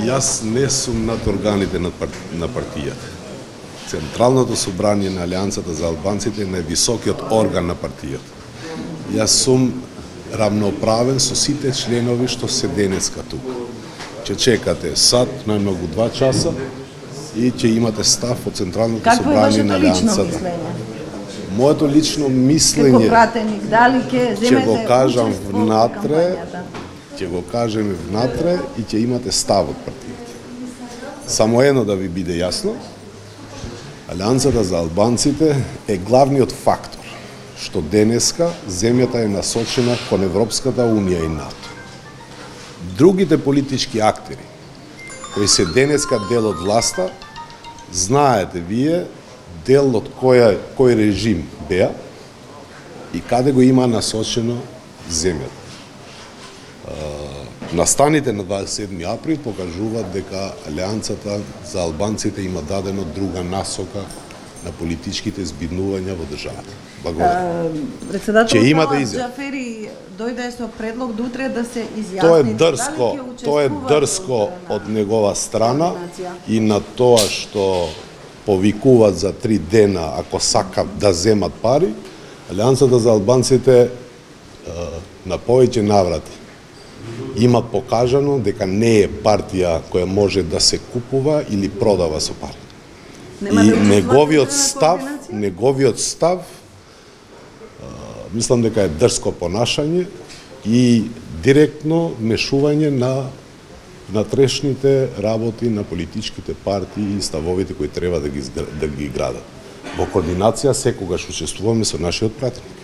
Јас не сум над органите на партијата. Централното собрание на Алијансата за албанците е највисокиот орган на партијата. Јас сум равноправен со сите членови што се денеска тука. Ќе чекате сат, најмногу 2 часа и ќе имате став од Централното собрание на Алијансата. Моето лично мислење, ќе го кажам внатре, ќе го кажеме внатре и ќе имате став од партијата. Само едно да ви биде јасно, Алијансата за албанците е главниот фактор што денеска земјата е насочена кон Европската Унија и НАТО. Другите политички актери кои се денеска дел од власта, знаете вие дел од кој режим беа и каде го има насочено земјата. Настаните на 27 април покажуваат дека Алијансата за албанците има дадено друга насока на политичките збиднувања во државата. Благодарам. Председател Џафери дојде со предлог до утре да се изјасни. Тоа е дрско од негова страна и на тоа што повикуваат за 3 дена ако сакат да земат пари. Алијансата за албанците на повеќе наврати има покажано дека не е партија која може да се купува или продава со пари. И неговиот став мислам дека е дрско понашање и директно вмешување на внатрешните работи на политичките партии и ставовите кои треба да ги градат. Во координација секогаш учествуваме со нашиот пратеник.